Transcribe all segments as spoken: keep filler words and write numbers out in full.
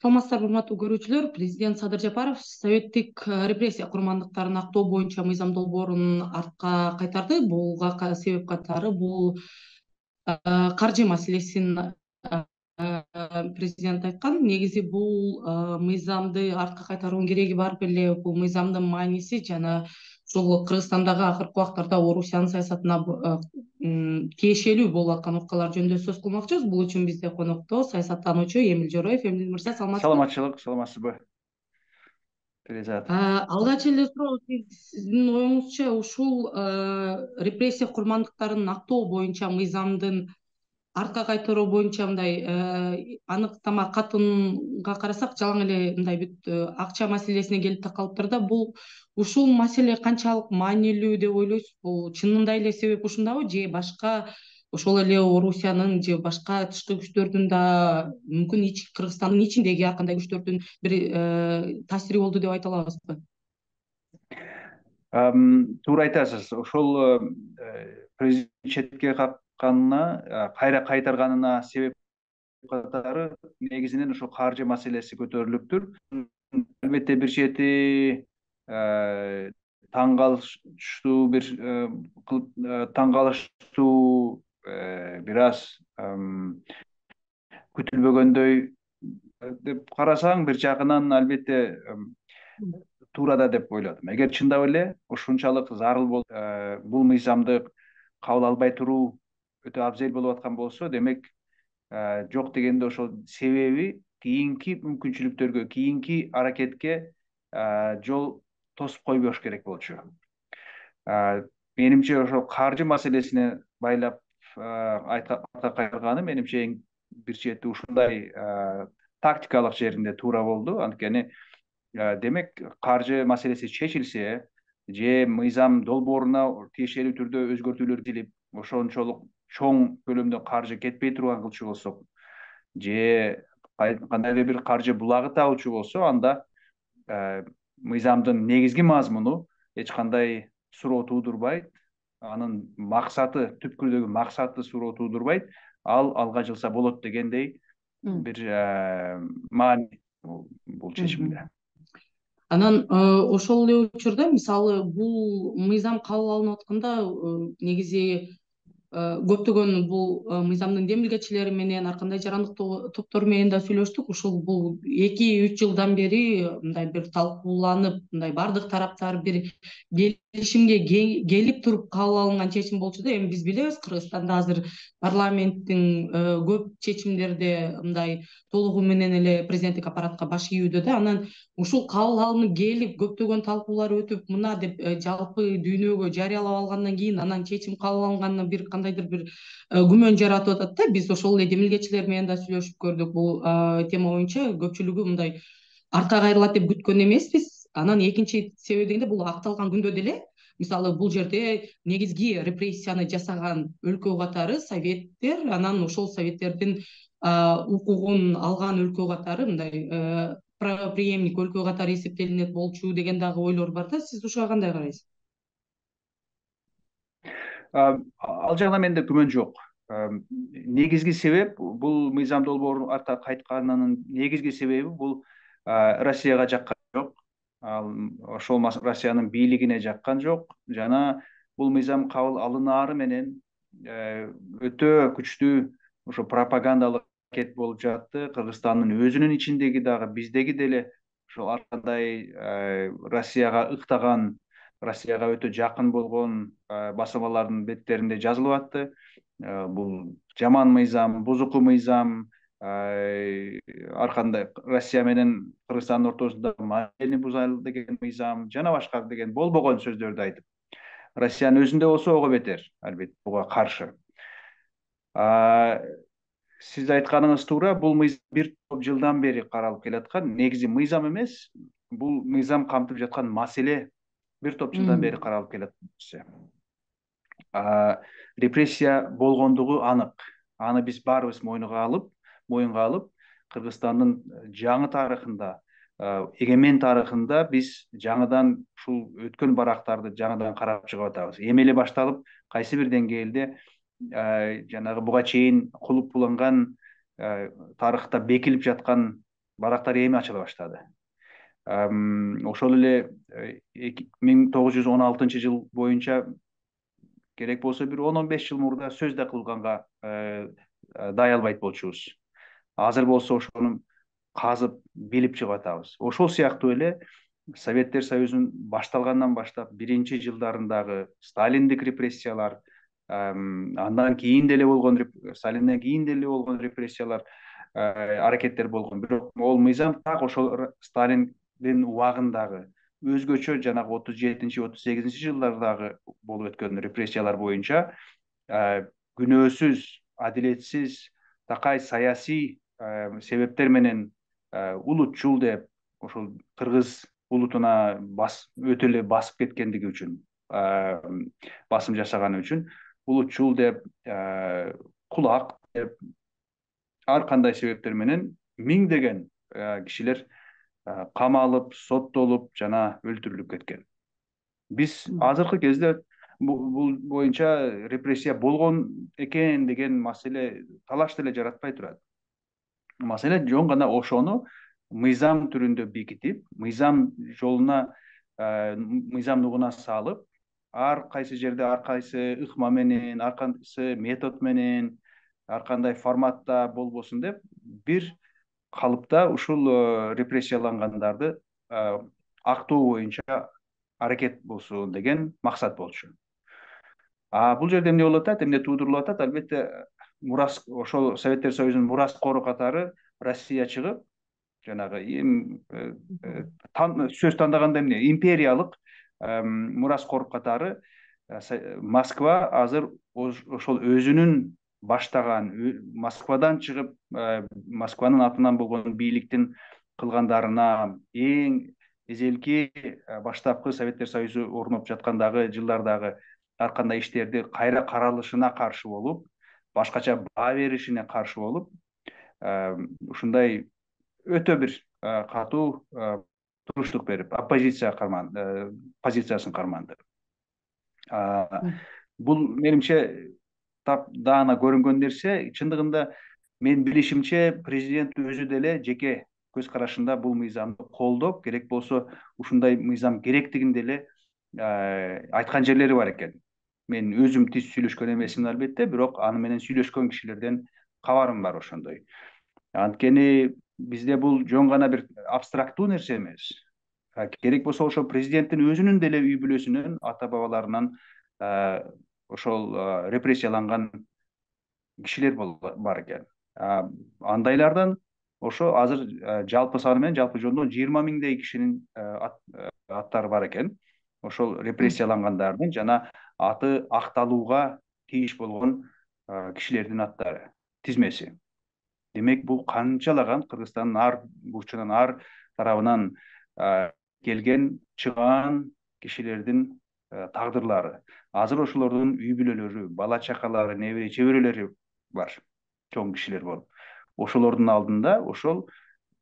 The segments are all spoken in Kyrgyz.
Саламатсыздарбы, урматтуу көрүүчүлөр. Президент Садыр Жапаров советтик репрессия курмандыктарын актоо боюнча мыйзам долбоорун артка кайтарды. Буга себеп катары бул каржы маселесин президент айткан. Негизи бул мыйзамды артка кайтаруунун кереги бар беле. Бул мыйзамдын мааниси жана ушул Кыргызстандагы акыркы убактарда Орусиянын саясатына тиешелүү болуп аткан окуялар жөнүндө сөз кылмакчыбыз. Бул үчүн бизде конокто саясаттануучу Эмил Жороев. Эмил мырза, саламатсызбы? Саламатчылык, саламатсызбы? Перизат. Алгач эле суроо, сиздин оюңузча ушул репрессия курмандыктарын актоо боюнча мыйзамдын артка кайтаруу боюнча мындай аныктама катынга карасак, жалаң эле мындай бүт акча маселесине келип такалыптыр да. Бул ушул маселе канчалык маанилүү деп ойлойсуз? Бул чынында эле себеп ушундабы, же башка ошол эле Орусиянын же башка тышкы күчтөрдүн да, мүмкүн Кыргызстандын ичиндеги ар кандай күчтөрдүн бир таасири болду деп айта алабызбы? Туура айтасыз. Ошол президент четке какканына, кайра кайтарганына себеп катары негизинен ошо каржы маселеси көтөрүлүптүр. Албетте бир чети таң калыштуу бир таң калыштуу бир аз күтүлбөгөндөй деп карасаң, бир жагынан албетте туура да деп ойлодум. Эгер чындап эле ушунчалык зарыл болуп, бул мыйзамды кабыл албай туруу өтө абзел болуп аткан болсо, демек жок дегенде ошол себеби кийинки мүмкүнчүлүктөргө, кийинки аракетке жол тосуп койбош керек болчу. Менимче ошол каржы маселесине байлап артка кайтарганы менимче бир чети ушундай тактикалык жеринде туура болду. Анткени демек каржы маселеси чечилсе, же мыйзам долбооруна тиешелүү түрдө өзгөртүүлөр кирип, ошончолук чоң көлөмдө каржы кетпей турган кылчу болсок, же кандайдыр бир каржы булагы табылчу болсо, анда мыйзамдын негизги мазмуну эч кандай суроо туудурбайт, анын максаты, түпкүрдөгү максаты суроо туудурбайт, ал алга жылса болот дегендей бир маани бул чечимде. Анан ошол эле учурда, мисалы, бул мыйзам кабыл алынып атканда негизи көптөгөн бул мыйзамдын демилгечилери менен, ар кандай жарандык топтор менен да сүйлөштүк. Ушул бул эки үч жылдан бери мындай бир талкууланып, мындай бардык тараптар бир келишимге келип туруп кабыл алынган чечим болчу да. Эми биз билебиз, Кыргызстанда азыр парламенттин көп чечимдерде мындай толугу менен эле президенттик аппаратка баш ийүүдө да. Анан ушул кабыл алынып келип, көптөгөн талкуулар өтүп, мына деп жалпы дүйнөгө жарыялап алгандан кийин анан чечим кабыл алынганына бир кандайдыр бир күмөн жаратып атат да. Биз ошол эле демилгечилер менен да сүйлөшүп көрдүк. Бул тема боюнча көпчүлүгү мындай артка кайрылат деп күткөн эмеспиз. Анан экинчи себеп дегенде, бул акталган күндө деле, мисалы, бул жерде негизги репрессияны жасаган өлкө катары советтер, анан ошол советтердин укугун алган өлкө катары мындай правоприемник өлкө катары эсептелинет болчу деген дагы ойлор бар да. Сиз ушуга кандай карайсыз? Ал жагынан менде күмөн жок. Негизги себеп бул мыйзам долбоору артка кайтканынын негизги себеби бул Россияга жаккан жок. Ал ошол Россиянын бийлигине жаккан жок. Жана бул мыйзам кабыл алынаары менен өтө күчтүү ошо пропагандалык аракет болуп жатты. Кыргызстандын өзүнүн ичиндеги дагы, биздеги деле ошол ар кандай Россияга ыктаган, Россияга өтө жакын болгон басылмалардын беттеринде жазылып атты. Бул жаман мыйзам, бузуку мыйзам, ар кандай Россия менен Кыргызстандын ортосунда маанилини бузайлы деген мыйзам, жана башка деген болбогон сөздөрдү айтып, Россиянын өзүндө болсо ого бетер, албетте, буга каршы. Сиз айтканыңыз туура, бул мыйзам бир топ жылдан бери каралып келаткан. Негизи мыйзам эмес, бул мыйзам камтып жаткан маселе бир топ жылдан бери каралып келет. Репрессия болгондугу анык. Аны биз баарыбыз мойнуга алып, моюнга алып, Кыргызстандын жаңы тарыхында, эгемен тарыхында биз жаңыдан ушул өткөн барактарды жаңыдан карап чыгып атабыз. Эми эле башталып, кайсы бир деңгээлде жанагы буга чейин кулуп буланган тарыхта бекилип жаткан барактар эми ачыла баштады. Ошол эле миң тогуз жүз он алтынчы жыл боюнча керек болсо бир он он беш жыл мурда сөз да кылганга дай албайт болчубуз. Азыр болсо ошону казып билип чыгып атабыз. Ошол сыяктуу эле Советтер Союзунун башталгандан баштап биринчи жылдарындагы сталиндик репрессиялар, андан кийин деле болгон Сталинден кийин деле болгон репрессиялар, аракеттер болгон. Бирок ол мыйзам так ошол Сталиндин убагындагы өзгөчө жанагы отуз жетинчи отуз сегизинчи жылдардагы болуп өткөн репрессиялар боюнча күнөөсүз, адилетсиз, такай саясий себептер менен улутчул деп ошол кыргыз улутуна өтө эле басып кеткендиги үчүн, басым жасаганы үчүн улутчул деп, кулак деп, ар кандай себептер менен миңдеген кишилер камалып, соттолуп жана өлтүрүлүп кеткен. Биз азыркы кезде бул боюнча репрессия болгон экен деген маселе талаш деле жаратпай турат. Маселе жөн гана ошону мыйзам түрүндө бекитип, мыйзам жолуна, мыйзам нугуна салып, ар кайсы жерде ар кайсы ыкма менен, ар кайсы метод менен, ар кандай форматта болбосун деп, бир калыпта ушул репрессиялангандарды актоо боюнча аракет болсун деген максат болчу. А бул жерде эмне болуп атат, эмне туудурулуп атат? Албетте, мурас ошол Советтер Союзунун мураскору катары Россия чыгып, жанагы эми сөз тандаганда эмне, империялык мураскор катары Москва азыр ошол өзүнүн баштаган, Москвадан чыгып, Москванын атынан болгон бийликтин кылгандарына, эң эзелки баштапкы Советтер Союзу орноп жаткандагы жылдардагы ар кандай иштерди кайра каралышына каршы болуп, башкача баа беришине каршы болуп, ушундай өтө бир катуу туруштук берип, оппозиция позициясын карманды. Бул менимче тап даана көрүнгөн нерсе. Чындыгында мен билишимче президент өзү деле жеке көз карашында бул мыйзамды колдоп, керек болсо ушундай мыйзам керектигин деле айткан жерлери бар экен. Мен өзүм тиз сүйлөшкөн эмесмин албетте, бирок аны менен сүйлөшкөн кишилерден кабарым бар ошондой. Анткени бизде бул жөн гана бир абстрактуу нерсе эмес. Керек болсо ошо президенттин өзүнүн деле үй бүлөсүнөн, ата бабаларынан ошол репрессияланган кишилер бар экен. Андайлардан ошо азыр жалпы саны менен жалпы жолдон жыйырма миңдей кишинин аттары бар экен. Ошол репрессиялангандардын жана аты акталууга тийиш болгон кишилердин аттары, тизмеси. Демек, бул канчалаган Кыргызстандын ар бурчунан, ар тарабынан келген, чыган кишилердин тагдырлары. Азыр ошолордун үй бүлөлөрү, бала чакалары, небере чеберелери бар, чоң кишилер болуп. Ошолордун алдында ошол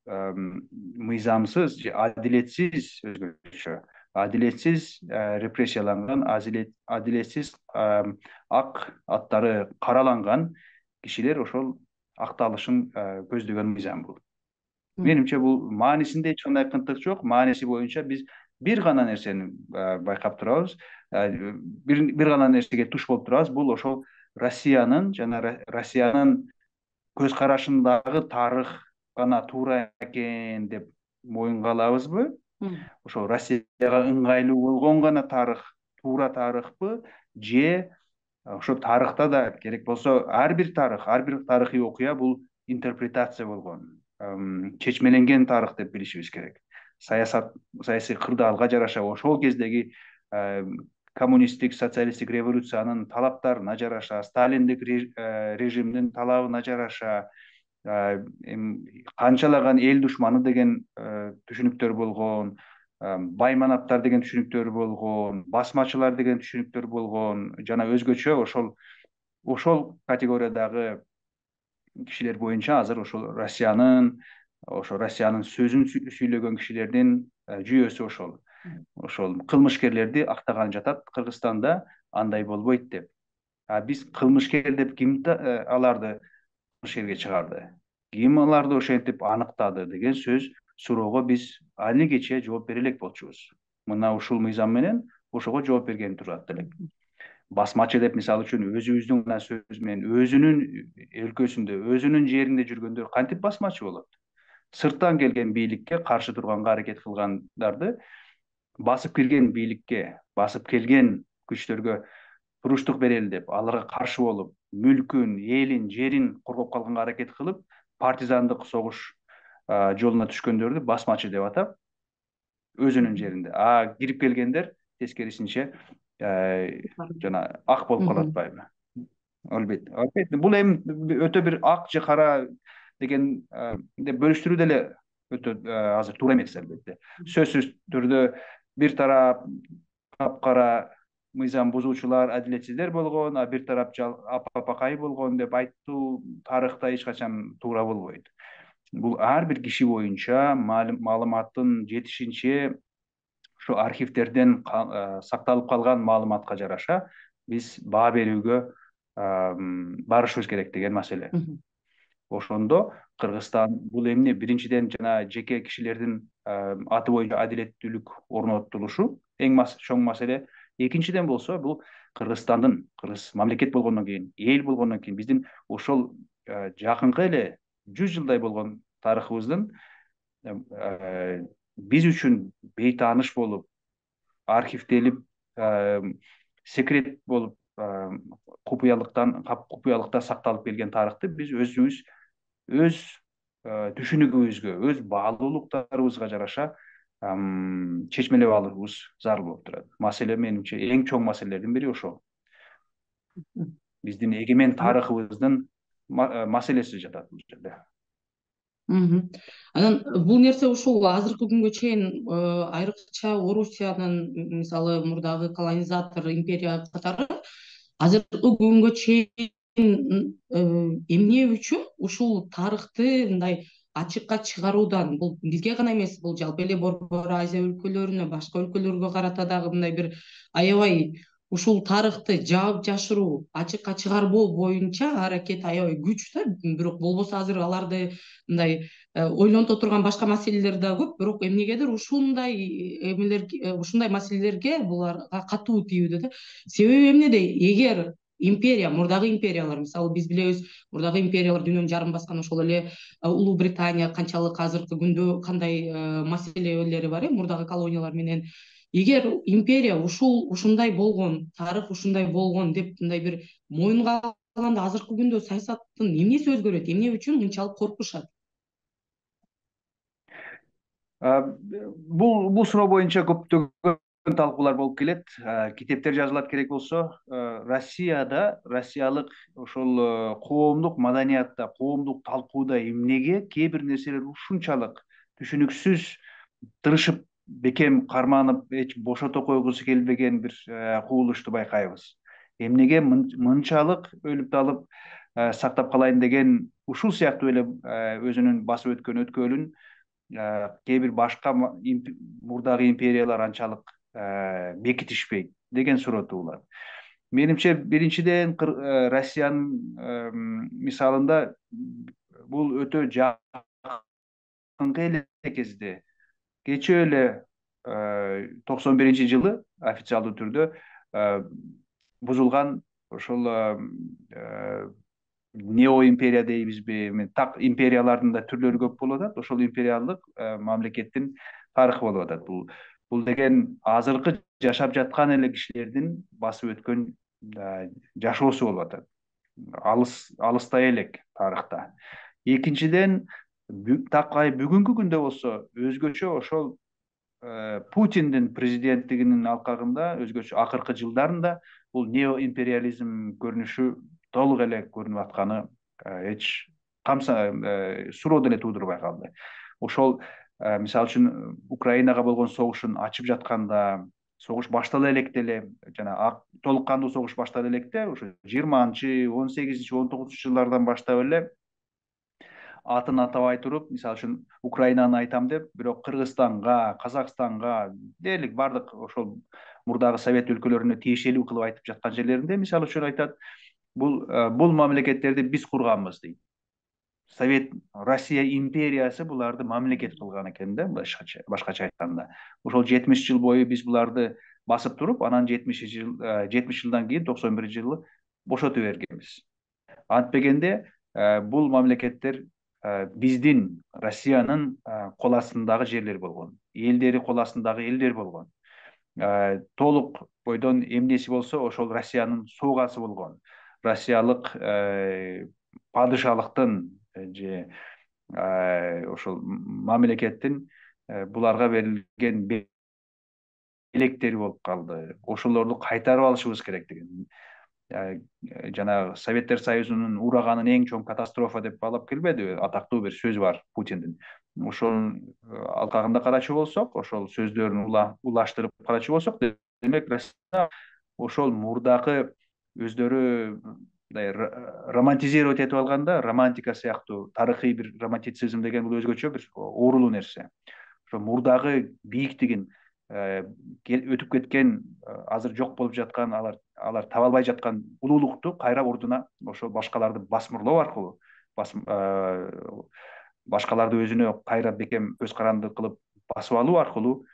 мыйзамсыз, адилетсиз, өзгөчө адилетсиз репрессияланган, адилетсиз ак аттары караланган кишилер ошол акталышын көздөгөн мыйзам бул. Менимче бул маанисинде эч кандай кынтык жок. Мааниси боюнча биз бир гана нерсени байкап турабыз, бир гана нерсеге туш болуп турабыз. Бул ошол Россиянын жана Россиянын көз карашындагы тарых гана туура экен деп моюнга алабызбы? Ошол Россияга ыңгайлуу болгон гана тарых туура тарыхпы, же ошо тарыхта да керек болсо ар бир тарых, ар бир тарыхый окуя бул интерпретация болгон, чечмеленген тарых деп билишибиз керек. Саясат, саясий кырдаалга жараша, ошол кездеги коммунисттик, социалисттик революциянын талаптарына жараша, сталиндик режимдин талабына жараша, канчалаган эл душманы деген түшүнүктөр болгон, байманаттар деген түшүнүктөр болгон, басмачылар деген түшүнүктөр болгон, жана өзгөчө ошол ошол категориядагы кишилер боюнча азыр ошол Россиянын, ошо Россиянын сөзүн сүйлөгөн кишилердин жүйөсү ошол. Ошол кылмышкерлерди актаган жатат Кыргызстанда, андай болбойт деп. А биз кылмышкер деп ким аларды кылмышкерге чыгарды? ким аларды ошентип аныктады деген сөз суроого биз али кече жооп бере элек болчубуз. Мына ушул мыйзам менен ошого жооп берген турат элек. Басмачы деп мисалы үчүн өзүбүздүн гана сөз менен өзүнүн өлкөсүндө, өзүнүн жеринде жүргөндөр кантип басмачы болот? Сырттан келген бийликке каршы турганга аракет кылгандарды, басып кирген бийликке, басып келген күчтөргө туруштук берели деп, аларга каршы болуп, мүлкүн, элин, жерин коргоп калганга аракет кылып, партизандык согуш жолуна түшкөндөрдү басмачы деп атап, өзүнүн жеринде. А кирип келгендер тескерисинче жана ак болуп калып атпайбы? Албетте, албетте. Бул эми өтө бир ак же кара деген деп бөлүштүрүү деле өтө азыр туура эмес, албетте. Сөзсүз түрдө бир тарап капкара мыйзам бузуучулар, адилетсиздер болгон, а бир тарап апапакай болгон деп айтуу тарыхта эч качан туура болбойт. Бул ар бир киши боюнча маалыматтын жетишинче ушу архивдерден сакталып калган маалыматка жараша биз баа берүүгө барышыбыз керек деген маселе. Ошондо Кыргызстан бул эмне? Биринчиден жана жеке кишилердин аты боюнча адилеттүүлүк орнотулушу эң чоң маселе. Экинчиден болсо бул Кыргызстандын, кыргыз мамлекет болгондон кийин, эл болгондон кийин биздин ошол жакынкы эле жүз жылдай болгон тарыхыбыздын биз үчүн бейтааныш болуп, архивделип, секрет болуп, купуялыктан купуялыкта сакталып келген тарыхты биз өзүбүз өз түшүнүгүбүзгө, өз баалуулуктарыбызга жараша чечмелеп алуубуз зарыл болуп турат. Маселе менимче эң чоң маселелердин бири ошол. Биздин эгемен тарыхыбыздын маселеси жатат бул жерде. Анан бул нерсе ушул азыркы күнгө чейин айрыкча Орусиянын мисалы мурдагы колонизатор империя катары азыркы күнгө чейин эмне үчүн ушул тарыхты мындай ачыкка чыгаруудан, бул бизге гана эмес, бул жалпы эле Борбор Азия өлкөлөрүнө, башка өлкөлөргө карата дагы мындай бир аябай ушул тарыхты жаап жашыруу, ачыкка чыгарбоо боюнча аракет аябай күч да. Бирок болбосо азыр аларды мындай ойлонто турган башка маселелер да көп, бирок эмнегедир ушундай эмелерге, ушундай маселелерге буларга катуу тийүүдө да. Себеби эмнеде? Эгер империя, мурдагы империялар, мисалы биз билебиз, мурдагы империялар дүйнөнү жарым баскан ошол эле Улуу Британия канчалык азыркы күндө кандай маселелери бар э, мурдагы колониялар менен. Эгер империя ушул ушундай болгон, тарых ушундай болгон деп мындай бир моюнга алганда азыркы күндө саясаттын эмнеси өзгөрөт? Эмне үчүн мынчалык коркушат? Бул бул суроо боюнча көптөгөн талкуулар болуп келет. Китептер жазылат керек болсо. Россияда, россиялык ошол коомдук маданиятта, коомдук талкууда эмнеге кээ бир нерселер ушунчалык түшүнүксүз, тырышып бекем карманып, эч бошото койгусу келбеген бир кубулушту байкайбыз. Эмнеге мынчалык өлүп талып сактап калайын деген ушул сыяктуу эле өзүнүн басып өткөн өткөлүн кээ бир башка мурдагы империялар анчалык бекитишпейт деген суроо туулат. Менимче биринчиден Россиянын мисалында бул өтө жакынкы эле кезде, кечээ эле токсон биринчи жылы официалдуу түрдө бузулган ошол нео империя дейбизби, так империялардын да түрлөрү көп болуп атат. Ошол империялык мамлекеттин тарыхы болуп атат. Бул бул деген азыркы жашап жаткан эле кишилердин басып өткөн жашоосу болуп атат. Алыс алыстай элек тарыхта. Экинчиден, такай бүгүнкү күндө болсо өзгөчө ошол Путиндин президенттигинин алкагында, өзгөчө акыркы жылдарында бул неоимпериализм көрүнүшү толук эле көрүнүп атканы эч камса суроо деле туудурбай калды. Ошол мисалы үчүн Украинага болгон согушун ачып жатканда, согуш баштала электе эле, жана толук кандуу согуш баштала электе, ошо жыйырманчы, он сегизинчи, он тогузунчу жылдардан баштап эле атын атабай туруп, мисалы үчүн Украинаны айтам деп, бирок Кыргызстанга, Казакстанга, дээрлик бардык ошол мурдагы Совет өлкөлөрүнө тиешелүү кылып айтып жаткан жерлеринде, мисалы үчүн айтат, бул бул мамлекеттерди биз курганбыз дейт. Совет Россия империясы буларды мамлекет кылган экен да, башкача башкача айтканда. Ошол жетимиш жыл бою биз буларды басып туруп, анан жетимиш жыл жетимиш жылдан кийин токсон биринчи жылы бошотуп бергенбиз. Антпегенде бул мамлекеттер биздин Россиянын кол астындагы жерлер болгон, элдери кол астындагы элдер болгон. Толук бойдон эмнеси болсо ошол Россиянын суугасы болгон. Россиялык падышалыктын же ошол мамлекеттин буларга берилген белектери болуп калды. Ошолорду кайтарып алышыбыз керек деген. Жана Советтер Союзунун ураганын эң чоң катастрофа деп баалап келбедиби? Атактуу бир сөз бар Путиндин. Ошонун алкагында карачу болсок, ошол сөздөрүн улаштырып карачу болсок, демек Россия ошол мурдакы өздөрү мындай романтизировать этип алганда, романтика сыяктуу, тарыхый бир романтицизм деген бул өзгөчө бир оорулуу нерсе. Ошо мурдагы бийиктигин өтүп кеткен, азыр жок болуп жаткан, алар алар таба албай жаткан улуулукту кайра ордуна ошо башкаларды басмырлоо аркылуу, башкаларды өзүнө кайра бекем көз каранды кылып басып алуу аркылуу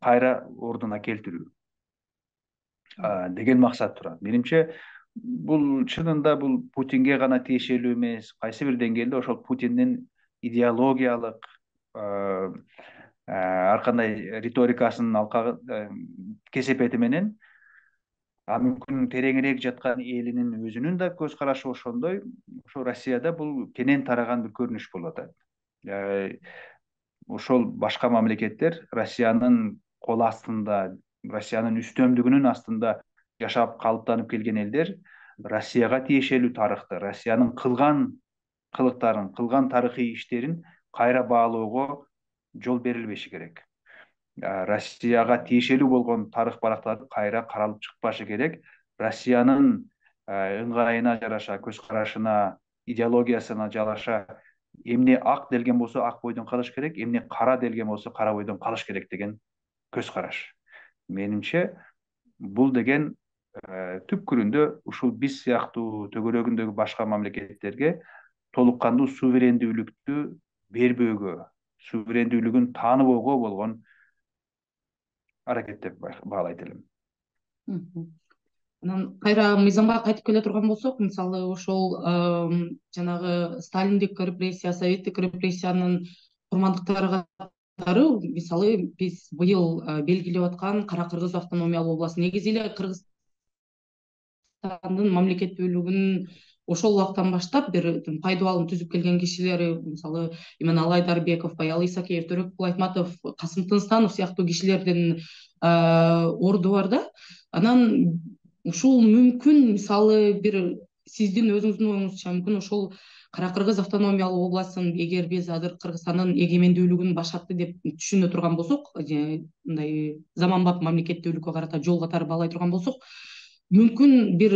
кайра ордуна келтирүү деген максат турат. Менимче бул чынында бул Путинге гана тиешелүү эмес, кайсы бир деңгээлде ошол Путиндин идеологиялык ар кандай риторикасынын алкагы кесепети менен, а мүмкүн тереңирээк жаткан элинин өзүнүн да көз карашы ошондой, ошо Россияда бул кенен тараган бир көрүнүш болуп атат. Ошол башка мамлекеттер Россиянын кол астында, Россиянын үстөмдүгүнүн астында жашап калыптанып келген элдер Россияга тиешелүү тарыхты, Россиянын кылган кылыктарын, кылган тарыхый иштерин кайра баалоого жол берилбеши керек. Россияга тиешелүү болгон тарых барактары кайра каралып чыкпашы керек. Россиянын ыңгайына жараша, көз карашына, идеологиясына жараша эмне ак делген болсо ак бойдон калыш керек, эмне кара делген болсо кара бойдон калыш керек деген көз караш. Менимче бул деген түпкүрүндө ушул биз сыяктуу төгөрөгүндөгү башка мамлекеттерге толук кандуу суверендүүлүктү бербөөгө, суверендүүлүгүн тааныбоого болгон аракет деп баалайт элем. Анан кайра мыйзамга кайтып келе турган болсок, мисалы ошол жанагы сталиндик репрессия, советтик репрессиянын курмандыктары катары, мисалы биз быйыл белгилеп аткан Кара Кыргыз автономиялуу областы, негизи эле Кыргызстандын мамлекеттүүлүгүн ошол убактан баштап бир пайдубалын түзүп келген кишилери, мисалы Иманалы Айдарбеков, Баял Исакеев, Төрөкул Айтматов, Касым Тынстанов сыяктуу кишилердин орду бар да. Анан ушул мүмкүн, мисалы бир сиздин өзүңүздүн оюңузча, мүмкүн ошол Кара Кыргыз автономиялуу областын эгер биз азыр Кыргызстандын эгемендүүлүгүн башатты деп түшүнө турган болсок, мындай заманбап мамлекеттүүлүккө карата жол катары баалай турган болсок, мүмкүн бир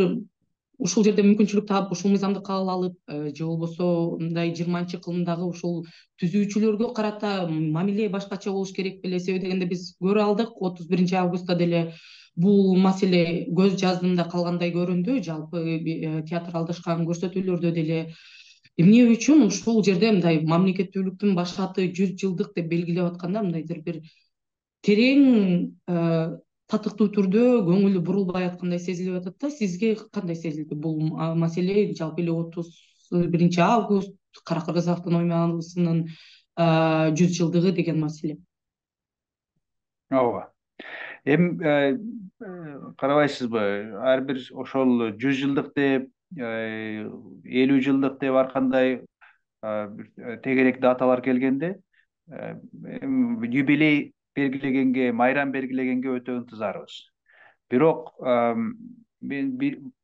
ушул жерде мүмкүнчүлүк таап, ушул мыйзамды кабыл алып, же болбосо мындай жыйырманчы кылымдагы ушул түзүүчүлөргө карата мамиле башкача болуш керек беле? Себеби дегенде биз көрө алдык, отуз биринчи августта деле бул маселе көз жаздымда калгандай көрүндү. Жалпы театралдашкан көрсөтүүлөрдө деле эмне үчүн ушул жерде мындай мамлекеттүүлүктүн башаты жүз жылдык деп белгилеп атканда мындайдыр бир терең татыктуу түрдө көңүлү бурулбай аткандай сезилип атат да. Сизге кандай сезилди бул маселе? Жалпы эле отуз биринчи август Кара Кыргыз автономиялысынын жүз жылдыгы деген маселе. Ооба. Эми карабайсызбы, ар бир ошол жүз жылдык деп, элүү жылдык деп ар кандай тегерек даталар келгенде юбилей белгилегенге, майрам белгилегенге өтө ынтызарбыз. Бирок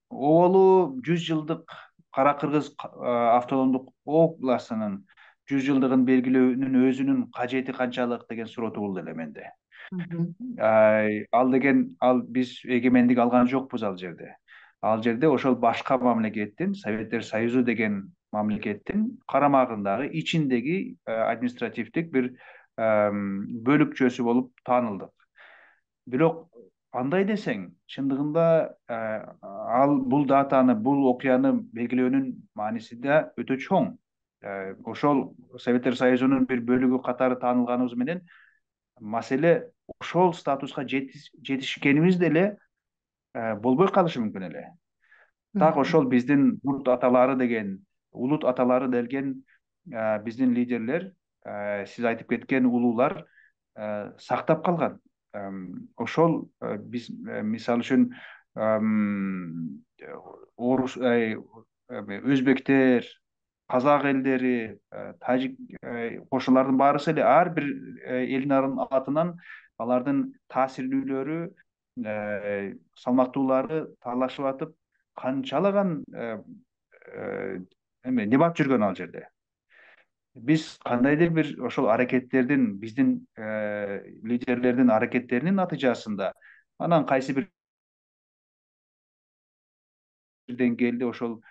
оболу жүз жылдык Кара Кыргыз автономдук областынын жүз жылдыгын белгилөөнүн өзүнүн кажети канчалык деген суроо туулду эле менде. Ал деген, ал биз эгемендик алган жокпуз ал жерде. Ал жерде ошол башка мамлекеттин, Советтер Союзу деген мамлекеттин карамагындагы ичиндеги административдик бир бөлүкчөсү болуп таанылдык. Бирок андай десең, чындыгында ал бул датаны, бул окуяны белгилөөнүн мааниси да өтө чоң. ошол Советтер Союзунун бир бөлүгү катары таанылганыбыз менен маселе ошол статуска жетишкенибиз деле болбой калышы мүмкүн эле. Так ошол биздин урт аталары деген, улут аталары деген биздин лидерлер, сиз айтып кеткен улуулар сактап калган. Ошол биз мисалы үчүн орус, өзбектер, казак элдери, тажик кошулардын баарысы эле ар бир элдин атынан алардын таасирлүүлөрү, салмактуулары таалашып атып канчалаган эме дебат жүргөн ал жерде. Биз кандайдыр бир ошол аракеттердин, биздин лидерлердин аракеттеринин натыйжасында анан кайсы бир деңгээлде ошол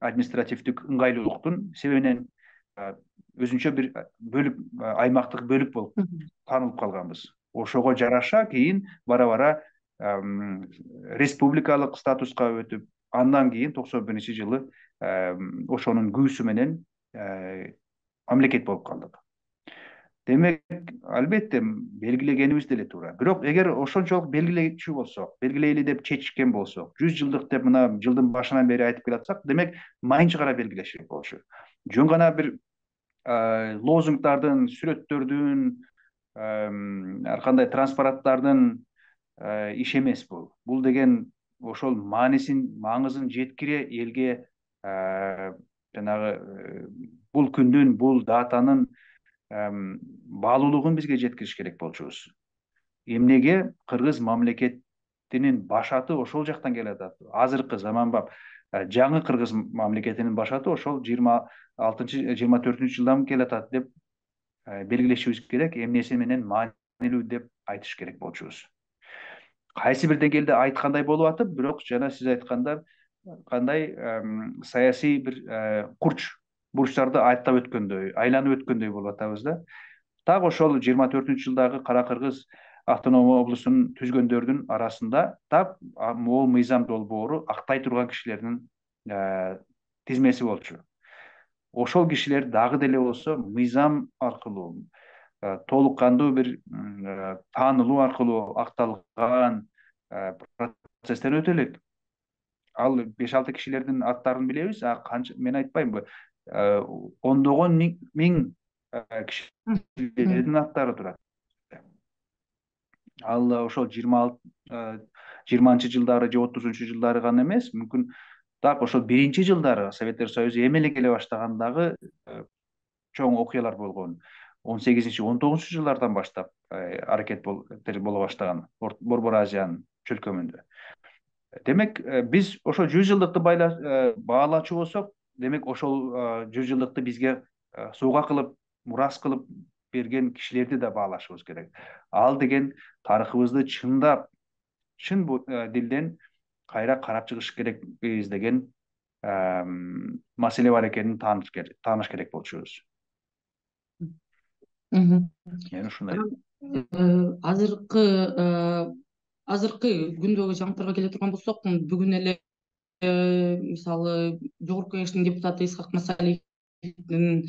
административдик ыңгайлуулуктун себебинен өзүнчө бир бөлүк, аймактык бөлүк болуп таанылып калганбыз. Ошого жараша кийин бара бара республикалык статуска өтүп, андан кийин токсон биринчи жылы ошонун күбүсү менен мамлекет болуп калдык. Демек, албетте белгилегенибиз деле туура. Бирок эгер ошончолук белгилечү болсок, белгилейли деп чечишкен болсок, жүз жылдык деп мына жылдын башынан бери айтып келатсак, демек майынча гана белгилеш керек болчу. Жөн гана бир лозунгдардын, сүрөттөрдүн, ар кандай транспаранттардын иш эмес бул. Бул деген ошол маанисин, маңызын жеткире элге жанагы бул күндүн, бул датанын баалуулугун бизге жеткириш керек болчубуз. Эмнеге кыргыз мамлекетинин башаты ошол жактан келатат. Азыркы заманбап жаңы кыргыз мамлекетинин башаты ошол жыйырма алтынчы, жыйырма төртүнчү жылдан келатат деп белгилешибиз керек. Эмнеси менен маанилүү деп айтыш керек болчубуз. Кайсы бир деңгээлде айткандай болуп атып, бирок жана сиз айткандай кандай саясий бир курч бурчтарды аттап өткөндөй, айланып өткөндөй болуп атабыз да. Так ошол жыйырма төртүнчү жылдагы Кара Кыргыз автономия облусун түзгөндөрдүн арасында так могул мыйзам долбоору актай турган кишилердин тизмеси болчу. Ошол кишилер дагы деле болсо мыйзам аркылуу, толук кандуу бир таанылуу аркылуу акталган процесстен өтө элек. Ал беш алты кишилердин аттарын билебиз, а канча, мен айтпаймынбы, ондогон миң кишилердин аттары турат. Ал ошол жыйырманчы жылдары же отузунчу жылдары гана эмес, мүмкүн так ошол биринчи жылдары Советтер Союзу эми эле келе баштагандагы чоң окуялар болгон. он сегизинчи он тогузунчу жылдардан баштап аракет боло баштаган Борбор Азиянын чөлкөмүндө. Демек, биз ошол жүз жылдыкты баалачу болсок, демек ошол жүз жылдыкты бизге сууга кылып, мурас кылып берген кишилерди да баалашыбыз керек. Ал деген тарыхыбызды чындап, чын дилден кайра карап чыгыш керекпиз деген маселе бар экенин тааныш керек болчубуз. Мен ушундай. Азыркы азыркы күндөгү жаңылыктарга келе турган болсок, бүгүн эле мисалы Жогорку Кеңештин депутаты Исхак Масалиевдин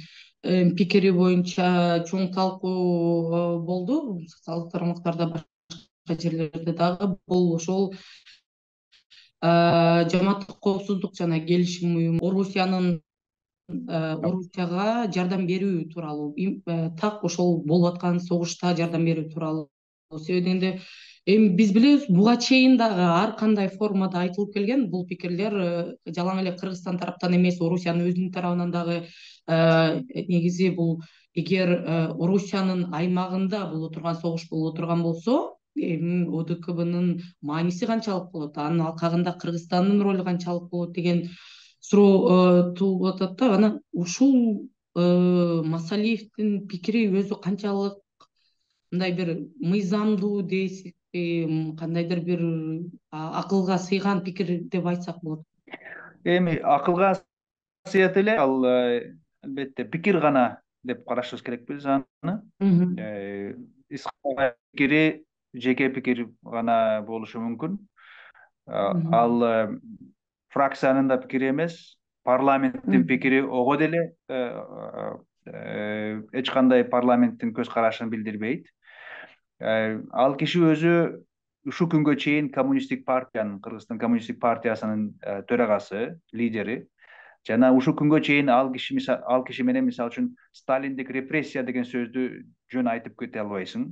пикири боюнча чоң талкуу болду. Социалдык тармактарда, башка жерлерде дагы бул ошол Жамааттык коопсуздук жана келишим уюму Орусиянын Орусияга жардам берүү тууралуу, так ошол болуп аткан согушта жардам берүү тууралуу. Себебинде эми биз билебиз, буга чейин дагы ар кандай формада айтылып келген бул пикирлер жалаң эле Кыргызстан тараптан эмес, Орусиянын өзүнүн тарабынан дагы негизи бул эгер Орусиянын аймагында боло турган согуш боло турган болсо, эми О Д К Б'нын мааниси канчалык болот, анын алкагында Кыргызстандын ролу канчалык болот деген суроо туулуп атат да. Анан ушул Масалиевдин пикири өзү канчалык мындай бир мыйзамдуу дейсизби, кандайдыр бир акылга сыйган пикир деп айтсак болот? Эми акылга сыйат эле, ал албетте пикир гана деп карашыбыз керекпиз аны. Исхак пикири жеке пикир гана болушу мүмкүн. Ал фракциянын да пикири эмес, парламенттин пикири ого деле эч кандай парламенттин көз карашын билдирбейт. Ал киши өзү ушул күнгө чейин коммунисттик партиянын, Кыргызстан коммунисттик партиясынын төрагасы, лидери. Жана ушул күнгө чейин ал киши ал киши менен мисалы үчүн сталиндик репрессия деген сөздү жөн айтып кете албайсың.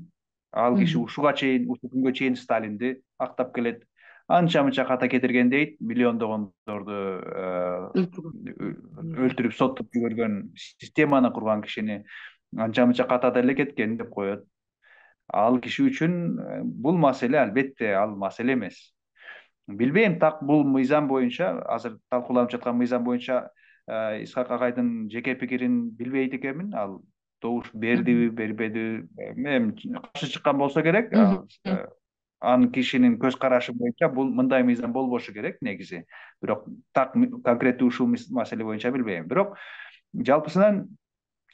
Ал киши ушуга чейин, ушул күнгө чейин Сталинди актап келет. Анча мынча ката кетирген дейт, миллиондогондорду өлтүрүп соттоп жиберген, системаны курган кишини анча мынча ката деле кеткен деп коет. Ал киши үчүн бул маселе албетте ал маселе эмес. Билбейм, так бул мыйзам боюнча, азыр талкууланып жаткан мыйзам боюнча Исхак агайдын жеке пикирин билбейт экенмин. Ал добуш бердиби, бербедиби, эми каршы чыккан болсо керек. Анын кишинин көз карашы боюнча бул мындай мыйзам болбошу керек негизи. Бирок так конкреттүү ушул маселе боюнча билбейм. Бирок жалпысынан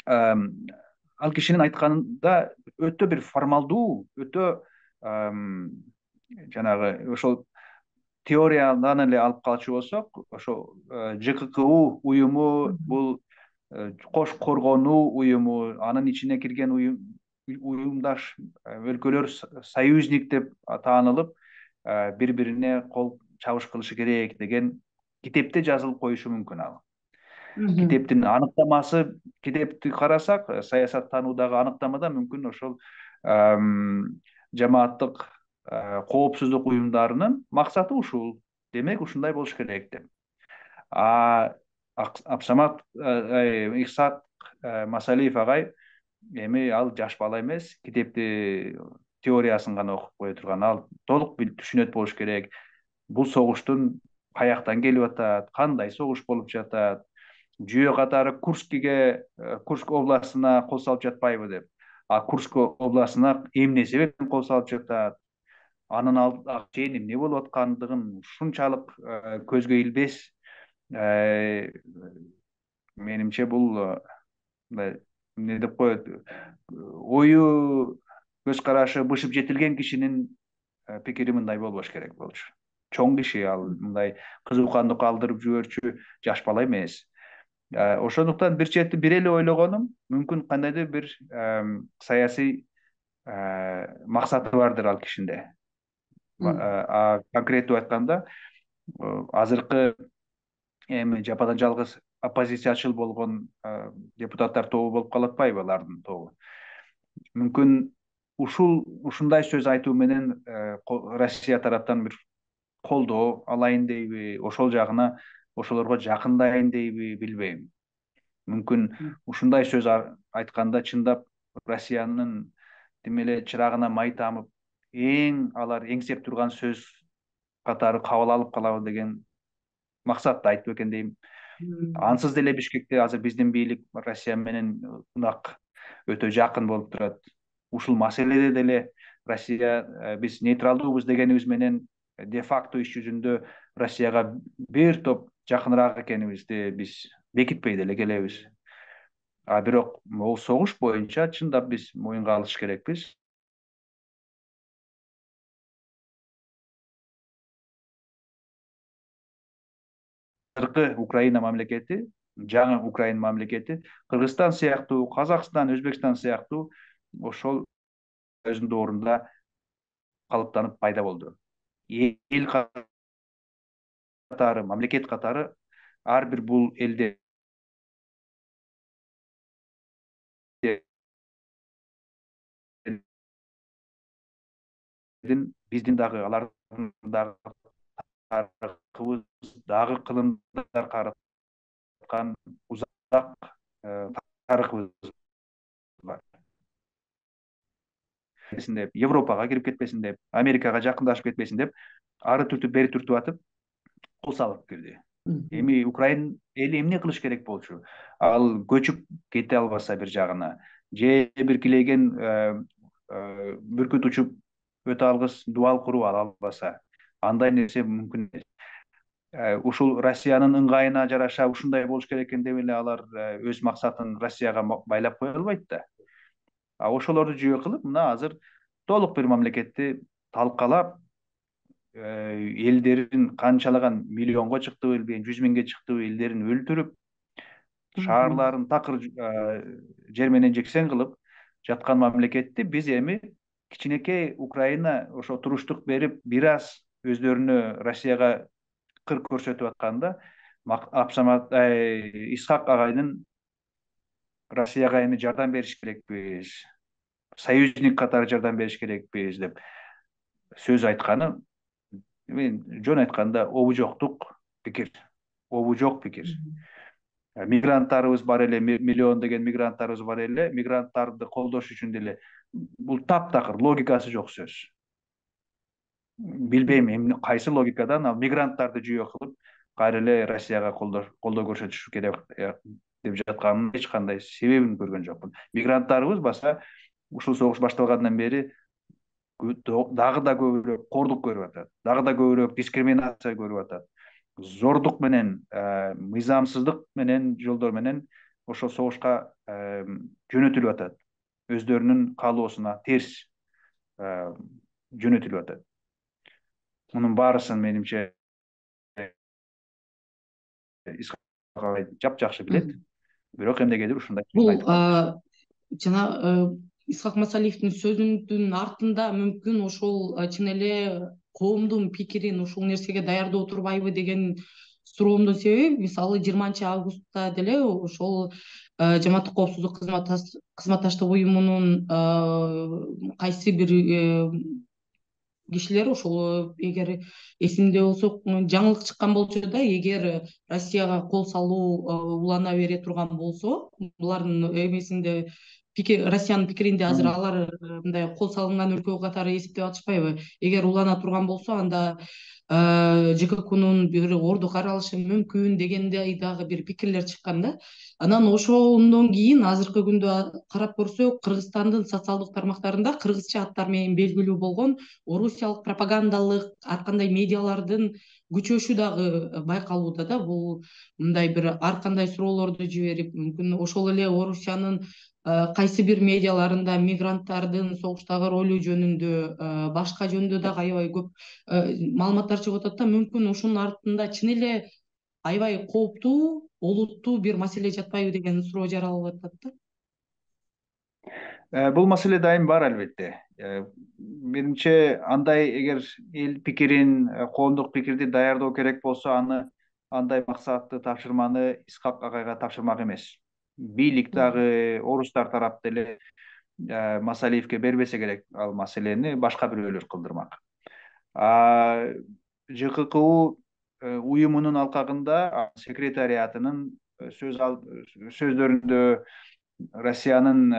ал кишинин айтканында өтө бир формалдуу, өтө жанагы ошол теориядан эле алып калчу болсок, ошо ЖККУ уюму бул кош коргонуу уюму, анын ичине кирген уюмдаш өлкөлөр союзник деп таанылып, бири бирине кол чабыш кылышы керек деген китепте жазылып коюшу мүмкүн ал. Китептин аныктамасы, китепти карасак, саясаттануудагы аныктамада мүмкүн ошол жамааттык коопсуздук уюмдарынын максаты ушул. Демек, ушундай болуш керек деп. А Абсамат Иксак Масалиев агай эми ал жаш бала эмес, китепти теориясын гана окуп кое турган. Ал толук түшүнөт болуш керек. Бул согуштун каяктан келип атат, кандай согуш болуп жатат, жүйө катары Курскиге, Курск областына кол салып жатпайбы деп. А Курск областына эмне себептен кол салып жатат, анын алдында чейин эмне болуп аткандыгын ушунчалык көзгө илбес, менимче бул эмне деп коет, ою көз карашы бышып жетилген кишинин пикири мындай болбош керек болчу. Чоң киши, ал мындай кызууканды калтырып жиберчү жаш бала эмес. Ошондуктан бир чети бир эле ойлогонум, мүмкүн кандайдыр бир саясий максаты бардыр ал кишинде. А конкреттүү айтканда, азыркы эми жападан жалгыз оппозициячыл болгон депутаттар тобу болуп калып атпайбы, алардын тобу. Мүмкүн ушул ушундай сөз айтуу менен Россия тараптан бир колдоо алайын дейби, ошол жагына ошолорго жакындайын дейби, билбейм. Мүмкүн ушундай сөз айтканда чындап Россиянын демеле чырагына май тамып, эң алар эңсеп турган сөз катары кабыл алып калабы деген максатта айтып экен дейм. Ансыз деле Бишкекте азыр биздин бийлик Россия менен ынак, өтө жакын болуп турат. Ушул маселеде деле Россия, биз нейтралдуубуз дегенибиз менен де-факто иш жүзүндө Россияга бир топ жакыныраак экенибизди биз бекитпей деле келебиз. А бирок могул согуш боюнча чындап биз моюнга алыш керекпиз. Азыркы Украина мамлекети, жаңы Украина мамлекети, Кыргызстан сыяктуу, Казакстан, Өзбекстан сыяктуу ошол өзүнүн доорунда калыптанып пайда болду. Эл катары, мамлекет катары ар бир бул элде биздин дагы алардын дагы тарыхыбыз, дагы кылымдар караткан узак тарыхыбыз бар. Деп, Европага кирип кетпесин деп, Америкага жакындашып кетпесин деп, ары түртүп, бери түртүп атып, кол салып кирди. Эми Украина эли эмне кылыш керек болчу? Ал көчүп кете албаса бир жагына, же бир килейген бүркүт учуп өтө алгыс дубал куруп ала албаса, андай нерсе мүмкүн эмес. Ушул Россиянын ыңгайына жараша ушундай болуш керек экен деп эле алар өз максатын Россияга байлап кое албайт да. А ошолорду жүйө кылып, мына азыр толук бир мамлекетти талкалап, элдерин канчалаган миллионго чыктыбы билбейм, жүз миңге чыктыбы элдерин өлтүрүп, шаарларын такыр жер менен жексен кылып жаткан мамлекетти биз эми кичинекей Украина ошо туруштук берип бир аз өздөрүнө Россияга кыр көрсөтүп атканда Абсамат Исхак агайдын Россияга эми жардам бериш керекпиз, союзник катары жардам бериш керекпиз деп сөз айтканы, мен жөн айтканда обужоктук пикир, обу жок пикир. Мигранттарыбыз бар эле, миллион деген мигранттарыбыз бар эле, мигранттарды колдош үчүн деле бул таптакыр, логикасы жок сөз. Билбейм эмне кайсы логикадан ал мигранттарды жүйө кылып кайра эле Россияга колдоо көрсөтүш керек деп жатканын эч кандай себебин көргөн жокмун. Мигранттарыбыз баса ушул согуш башталгандан бери дагы да көбүрөөк кордук көрүп атат, дагы да көбүрөөк дискриминация көрүп атат. Зордук менен, мыйзамсыздык менен, жолдор менен ошол согушка жөнөтүлүп атат. Өздөрүнүн каалоосуна терс жөнөтүлүп атат. Мунун баарысын менимче жапжакшы билет. Бирок эмнегедир ушундай бул жана Исхак Масалиевдин сөзүнүн артында мүмкүн ошол чын эле коомдун пикирин ушул нерсеге даярдап отурбайбы деген суроомдун себеби, мисалы жыйырманчы августта деле ошол Жамааттык коопсуздук кызматташтык уюмунун кайсы бир кишилер ошол, эгер эсимде болсо, жаңылык чыккан болчу да, эгер Россияга кол салуу улана бере турган болсо, булардын эмесинде Россиянын пикиринде азыр алар мындай кол салынган өлкө катары эсептеп атышпайбы? Эгер улана турган болсо, анда ЖККнун бир орду каралышы мүмкүн дегендей дагы бир пикирлер чыккан да. Анан ошондон кийин азыркы күндө карап көрсөк, Кыргызстандын социалдык тармактарында кыргызча аттар менен белгилүү болгон орусиялык пропагандалык ар кандай медиалардын күчөшү дагы байкалууда да. Бул мындай бир ар кандай суроолорду жиберип, мүмкүн ошол эле Орусиянын кайсы бир медиаларында мигранттардын согуштагы ролу жөнүндө, башка жөнүндө дагы аябай көп маалыматтар чыгып атат да. Мүмкүн ушунун артында чын эле аябай кооптуу, олуттуу бир маселе жатпайбы деген суроо жаралып атат да. Бул маселе дайым бар албетте. Менимче андай эгер эл пикирин, коомдук пикирди даярдоо керек болсо, аны андай максатты тапшырманы Исхак агайга тапшырмак эмес. Бийлик дагы, орустар тарап деле Масалиевге бербесе керек ал маселени, башка бирөөлөр кылдырмак. ЖККУ уюмунун алкагында секретариатынын сөздөрүндө Россиянын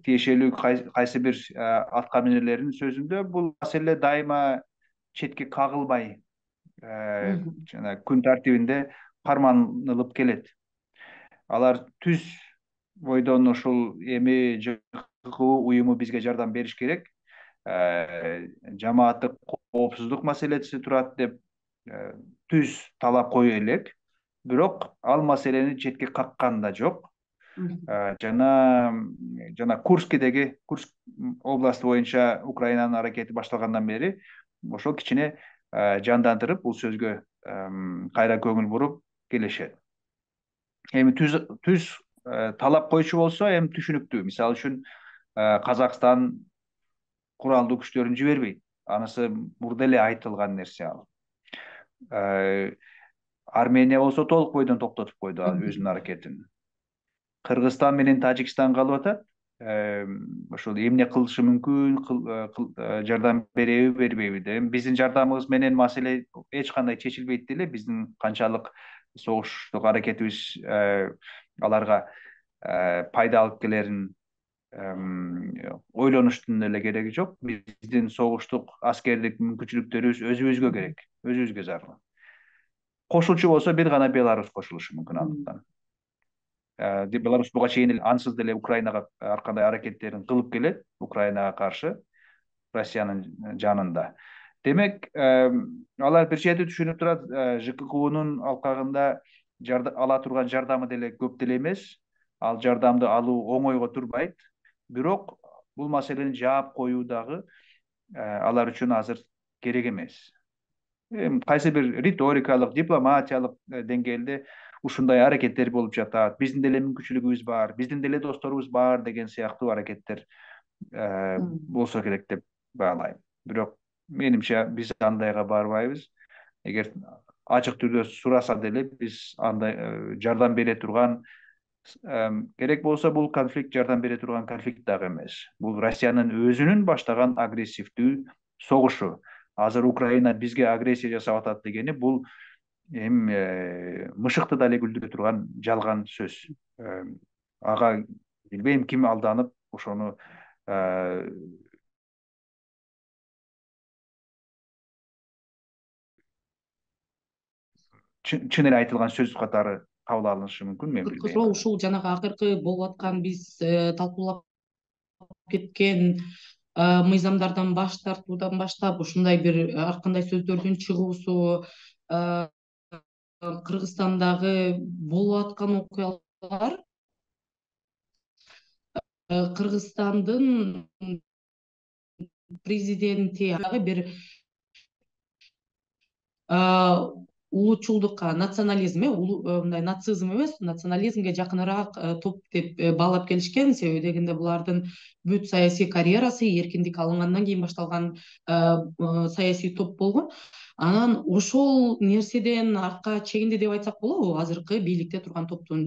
тиешелүү кайсы бир атка минерлеринин сөзүндө бул маселе дайыма четке кагылбай, жана күн тартибинде карманылып келет. Алар түз бойдон ушул эми ЖККУ уюму бизге жардам бериш керек, жамааттык коопсуздук маселеси турат деп түз талап кое элек, бирок ал маселени четке каккан да жок. Жана жана Курскидеги, Курск областы боюнча Украинанын аракети башталгандан бери ошол кичине жандандырып, бул сөзгө кайра көңүл буруп келишет. Эми түз түз талап койчу болсо эми түшүнүктүү. Мисалы үчүн Казакстан куралдуу күчтөрүн жибербейт. Анысы мурда эле айтылган нерсе ал. Армения болсо толук бойдон токтотуп койду өзүнүн аракетин. Кыргызстан менен Тажикстан калып атат. Ошол эмне кылышы мүмкүн, жардам береби, бербейби деп. Биздин жардамыбыз менен маселе эч кандай чечилбейт деле. Биздин канчалык согуштук аракетибиз аларга пайда алып келерин ойлонуштун эле кереги жок. Биздин согуштук аскердик мүмкүнчүлүктөрүбүз өзүбүзгө керек, өзүбүзгө зарыл. Кошулчу болсо бир гана Беларусь кошулушу мүмкүн андыктан. Беларусь буга чейин эле ансыз деле Украинага ар кандай аракеттерин кылып келет, Украинага каршы Россиянын жанында. Демек, алар бир чети түшүнүп турат, ЖККУнун алкагында ала турган жардамы деле көп деле эмес. Ал жардамды алуу оңойго турбайт. Бирок бул маселени жаап коюу дагы алар үчүн азыр керек эмес. эми кайсы бир риторикалык, дипломатиялык деңгээлде ушундай аракеттер болуп жатат. Биздин деле мүмкүнчүлүгүбүз бар, биздин деле досторубуз бар деген сыяктуу аракеттер болсо керек деп баалайм. Бирок менимче биз андайга барбайбыз. Эгер ачык түрдө сураса деле биз андай жардам бере турган, керек болсо бул конфликт жардам бере турган конфликт дагы эмес. Бул Россиянын өзүнүн баштаган агрессивдүү согушу. Азыр Украина бизге агрессия жасап атат дегени бул эми мышыкты дале күлдүрө турган жалган сөз. Ага билбейм ким алданып ошону чын эле айтылган сөз катары кабыл алынышы мүмкүн, мен Азыркы билбейм суроо аны. ушул жанагы акыркы болуп аткан биз талкуулап кеткен мыйзамдардан баш тартуудан баштап ушундай бир ар кандай сөздөрдүн чыгуусу, Кыргызстандагы болуп аткан окуялар Кыргызстандын президенти бир улуучулдукка, национализм, э мындай нацизм эмес, национализмге жакыныраак топ деп баалап келишкен. Себеби дегенде булардын бүт саясий карьерасы эркиндик алынгандан кийин башталган саясий топ болгон. Анан ошол нерседен артка чегинди деп айтсак болобу? Азыркы бийликте турган топтун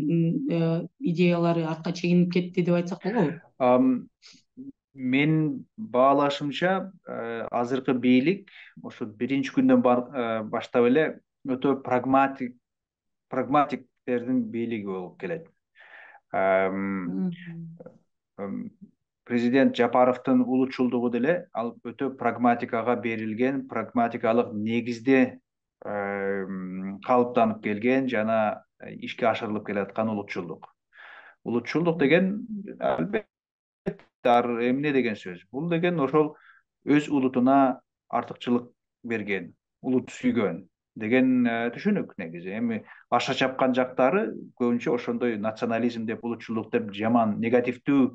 идеялары артка чегинип кетти деп айтсак болобу? Мен баалашымча азыркы бийлик ошо биринчи күндөн баштап эле өтө прагматик прагматиктердин бийлиги болуп келет. Президент Жапаровдун улуучулдугу деле ал өтө прагматикага берилген, прагматикалык негизде калыптанып келген жана ишке ашырылып келаткан улуучулдук. Улуучулдук деген албетте эмне деген сөз? Бул деген ошол өз улутуна артыкчылык берген, улут сүйгөн деген түшүнүк негизи. Эми башка чапкан жактары көбүнчө ошондой национализм деп, улутчулдук деп жаман негативдүү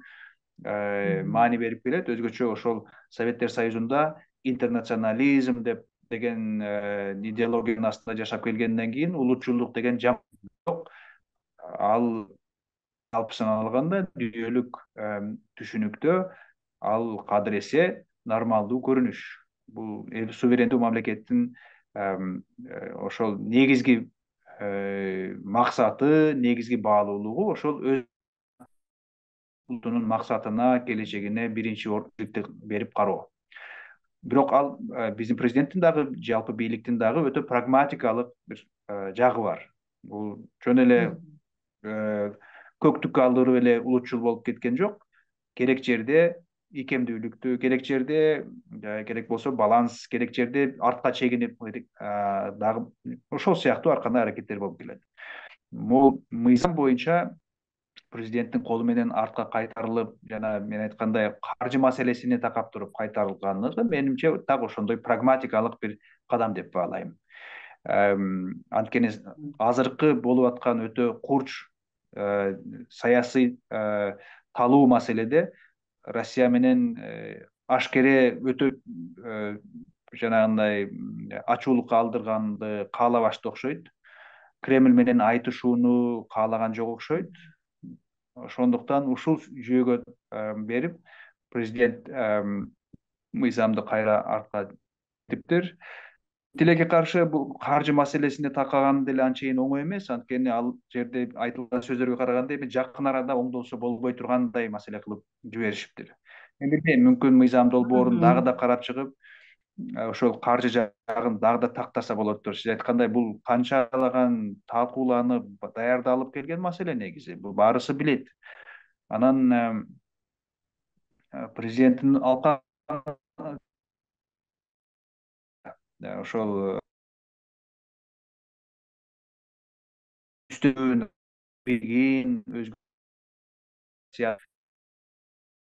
маани берип келет. Өзгөчө ошол Советтер Союзунда интернационализм деп деген идеологиянын астында жашап келгенден кийин улутчулдук деген жок. Ал алпысын алганда дүйнөлүк түшүнүктө ал кадыресе нормалдуу көрүнүш. Бул эл суверендүү мамлекеттин ошол негизги максаты, негизги баалуулугу ошол өз улутунун максатына, келечегине биринчи ордун берип кароо. Бирок ал биздин президенттин дагы, жалпы бийликтин дагы өтө прагматикалык бир жагы бар. Бул жөн эле көктүккө алдырып эле улутчул болуп кеткен жок. Керек жерде ийкемдүүлүктү, керек жерде керек болсо баланс, керек жерде артка чегинип дагы ошол сыяктуу ар кандай аракеттер болуп келет. Могу мыйзам боюнча президенттин колу менен артка кайтарылып, жана мен айткандай каржы маселесине такап туруп кайтарылганлыгы менимче так ошондой прагматикалык бир кадам деп баалайм. Анткени азыркы болуп аткан өтө курч саясий талуу маселеде Россия менен ашкере өтө жанагындай ачуулукка алдырганды каалабашты окшойт. Кремль менен айтышууну каалаган жок окшойт. Ошондуктан ушул жүйөгө берип президент мыйзамды кайра артка типтир. Тилекке каршы бул каржы маселесине такаган деле анчейин оңой эмес. Анткени ал жерде айтылган сөздөргө караганда эми жакын арада оңдолсо болбой тургандай маселе кылып жиберишиптир. Мен билбейм, мүмкүн мыйзам долбоорун дагы да карап чыгып, ошол каржы жагын дагы да тактаса болоттур. Сиз айткандай бул канчалаган талкууланып, даярдалып келген маселе негизи. Бул баарысы билет. Анан президенттин алкагы ошол үстөн билгин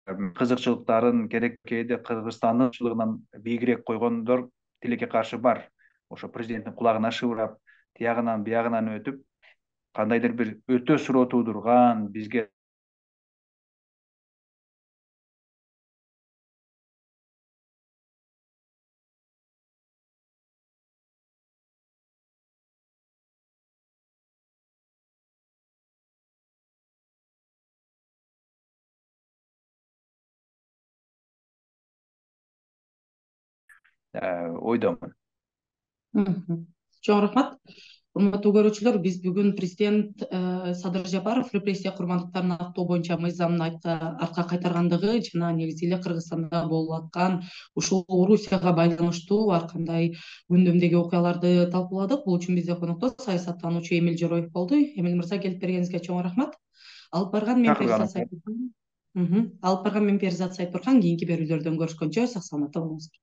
кызыкчылыктарын керек кээде Кыргызстандын чылыгынан бийигирээк койгондор тилекке каршы бар. Ошо президенттин кулагына шыбырап, тиягынан биягынан өтүп, кандайдыр бир өтө суроо туудурган, бизге ойдомун. Чоң рахмат. Урматтуу көрүүчүлөр, биз бүгүн президент Садыр Жапаров репрессия курмандыктарын актоо боюнча мыйзамын артка кайтаргандыгы жана негизи эле Кыргызстанда болуп аткан ушул Орусияга байланыштуу ар кандай күндөмдөгү окуяларды талкууладык. Бул үчүн бизде конокто саясаттануучу Эмил Жороев болду. Эмил мырза, келип бергениңизге чоң рахмат. Алып барган мен Перизат Чакырганыңызга. Сайыпбурхан. Алып барган мен Перизат Сайыпбурхан. Кийинки берүүлөрдөн көрүшкөнчө сак саламатта болуңуздар.